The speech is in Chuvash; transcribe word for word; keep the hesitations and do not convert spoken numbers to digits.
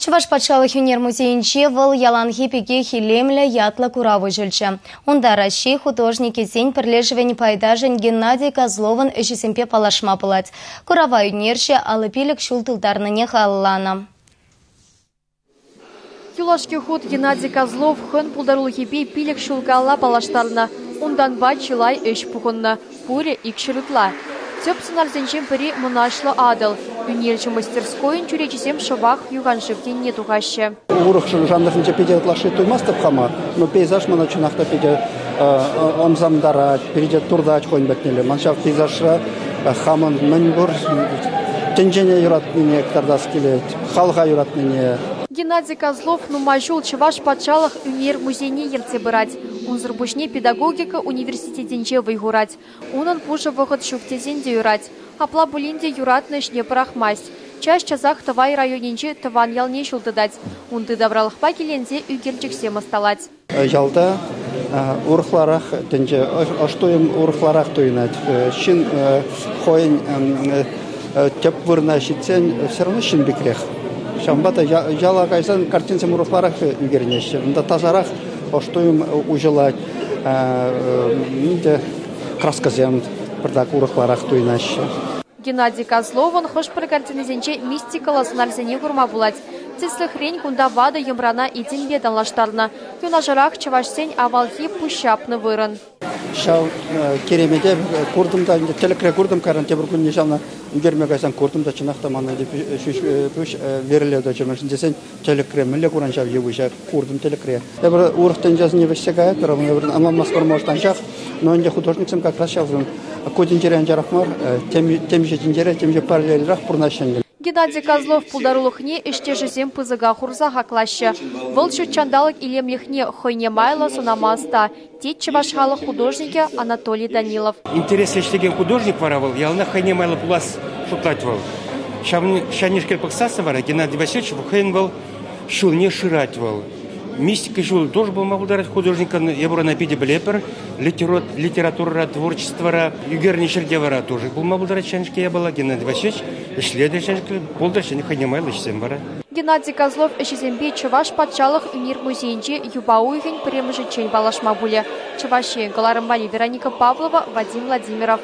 Чӑваш патшалӑх ӳнер музейӗнче вӑл яланхи пекех илемлӗ ятлӑ курав уҫӑлчӗ. Унта Раҫҫей художникӗсен пӗрлешӗвӗн пайташӗн Геннадий Козловӑн ӗҫӗсемпе паллашма пулать. Курава ӳнерҫӗ аллӑ пилӗк ҫул тултарнине халалланӑ. Юлашки хут Геннадий Козлов хӑйӗн пултарулӑхӗпе пилӗк ҫул каялла паллаштарнӑ. Унтанпа чылай ӗҫ пухӑннӑ. Пурӗ икҫӗр ытла. Тӗп сӑнарсенчен пӗри мӑнаҫлӑ Атӑл. Ӳнерҫӗ мастерскойӗн чӳречисем шӑпах юханшыв енне тухаҫҫӗ. Урӑх жанрсенче питӗ ытлашши туймастӑп хама, но пейзаж мана чӑнах та питӗ ӑмсантарать, питӗ туртать хӑйӗн патнелле. Ман ҫав пейзажра хамӑн мӗн пур тӗнчене юратнине кӑтартас килет, халӑха юратнине. Геннадий Козлов нумай ҫул Чӑваш патшалӑх ӳнер музейне ертсе пырать. Унсӑр пуҫне педагогика университетӗнче вӑй хурать. Унӑн пушӑ вӑхӑт ҫук тесен те юрать. Апла пулин те юратнӑ ӗҫне пӑрахмасть. Час-часах Тӑвай районӗнчи тӑван ялне ҫул тытать. Унти тавралӑхпа киленсе ӳкерчӗксем ӑсталать. Ялта урӑхларах тӗнче, ӑш туйӑм урӑхларах туйӑнать. Ҫын хӑйӗн тӗп вырӑна ҫитсен все равно ҫын пекрех. Ҫавӑнпа та яла кайсан картинсем урӑхларах ӳкерӗнеҫҫӗ. Унта тасарах ӑш туйӑм уҫӑлать. Краскӑсем пӗртак урӑхларах туйӑнаҫҫӗ. Геннадий Козловӑн хӑш-пӗр картинисенче мистикӑллӑ сӑнарсене курма пулать. Тӗслӗхрен кунта ватӑ йӑмрана этемпе танлаштарнӑ. Юнашарах чӑвашсен авалхи пуҫҫапнӑ вырӑн. Ҫав керемете куртӑм та, тӗлӗкре куртӑм, кайран тепӗр кунне ҫавна ӳкерме кайсан куртӑм та, чӑнах та мана ҫӳҫ пуҫ вӗрӗле тӑчӗ. Мӗншӗн тесен тӗлӗкре мӗнле куран ҫав йывӑҫа куртӑм тӗлӗкре. Эпир урӑх тӗнчесене вӗҫсе каятпӑр, эпир ӑнланмастпӑр, может, анчах, но ӗнтӗ художниксем как раз ҫавсем ку тӗнчере анчарах мар, темиҫе тӗнчере, темиҫе параллельрах пурӑнаҫҫӗ ӗнтӗ. Геннадий Козлов пултарулӑхне ӗҫтешӗсем пысӑка хурса хаклаҫҫӗ. Вӑл ҫут ҫанталӑк илемлӗхне хӑйне майлӑ сӑнама ӑста, тет чӑваш халӑх художникӗ Анатолий Данилов. Интереслӗ ӗҫлекен художник вара вӑл яланах хӑйне майлӑ пулас шутлать вӑл. Ҫавнешкел пӑхсассӑн вара Геннадий Васильевич хӑйӗн вӑл ҫулне шырать вӑл. Мистика ҫулӗ тоже пулма пултарать художникӑн, эпир ӑна питӗ пӗлетпӗр. Литературӑра, творчествӑра, ӳкернӗ ҫӗрте вара тоже пулма пултарать ҫавнешкел япала. Геннадий Васильевич ӗҫлетӗр ҫавнешкел, пултӑр ҫӗнӗ хӑйне майлӑ ӗҫсем вара. Геннадий Козлов ӗҫӗсемпе Чӑваш патшалӑх ӳнер музейӗнче юпа уйӑхӗн пӗрремӗшӗччен паллашма пулӗ. Чӑваш Ен кӑларӑм валли Вероника Павлова, Вадим Владимиров.